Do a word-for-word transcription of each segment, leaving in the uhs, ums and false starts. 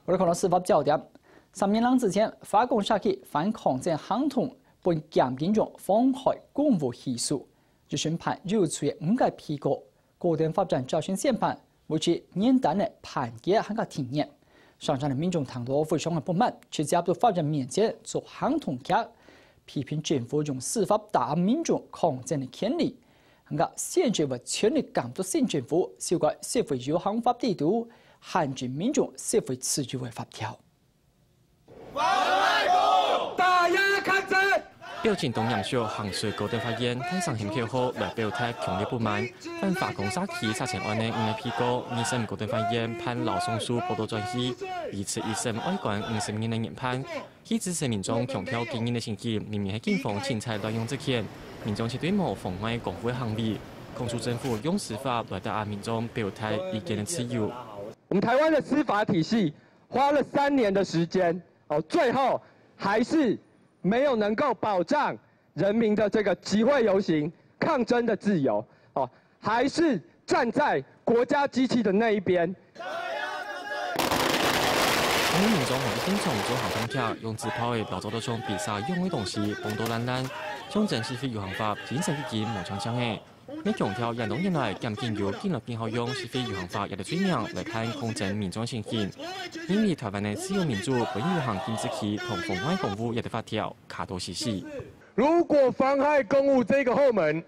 我哋看到司法焦點，三年零之前，華岡社區反抗爭行動分檢警長妨害公務起訴，一審判有罪个五個被告。高等法院朝晨宣判，維持原單个判決還過庭審。上場个民眾聽到非常个不滿，直接到法院面前做行動劇，批評政府用司法打壓民眾抗爭个權利。 還過限制為全力監督省政府修改社會遊行法制度，限制民眾社會自由个法條。打壓抗爭！表情當嚴肅，行出高等法院，大聲喊口號來表達強烈不滿，反華岡社區殺青案个五個被告，二審高等法院判勞上訴報到轉去，維持一審愛關五十年个原判。 去支持民眾強調今日个情形，明明係警方凊彩濫用職權，民眾絕對無妨礙公務个行為，控訴政府用司法來打壓民眾表達意見个自由。我們台灣的司法體系花了三年的時間，哦，最後還是沒有能夠保障人民的這個集會遊行、抗爭的自由，哦，還是站在國家機器的那一邊。 當民眾行到現場做行動劇，用紙炮仔摎做到像披薩樣个東西放到爛爛，象徵社會遊行法精神已經無像像个。也強調，恁多年來，檢警有緊來緊好用社會遊行法這個罪名來判抗爭民眾个情形，因為台灣个自由民主本有遊行禁止區同妨礙公務這個法條卡到死死。如果妨害公務這個後門，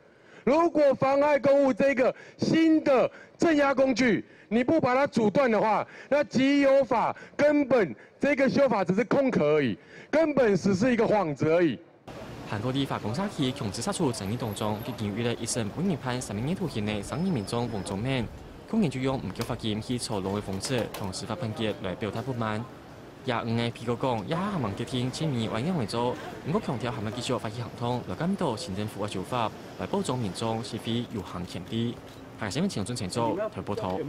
如果妨害公務這個新的鎮壓工具，你不把它阻斷的話，那極有法根本這個修法只是空殼而已，根本只是一個幌子而已。韓國立法公社區強制殺出爭議當中，已經有一個一審本人判三個月徒刑个生理民眾黃宗明，去年就用毋繳罰金去坐牢个方式，同司法判決來表達不滿。 也毋係譬如講，也還吂決定盡尾愛仰仔做，毋過強調還愛繼續發起行動，來監督行政府个做法，來保障民眾示威遊行權利。還新聞請準請做，台報導。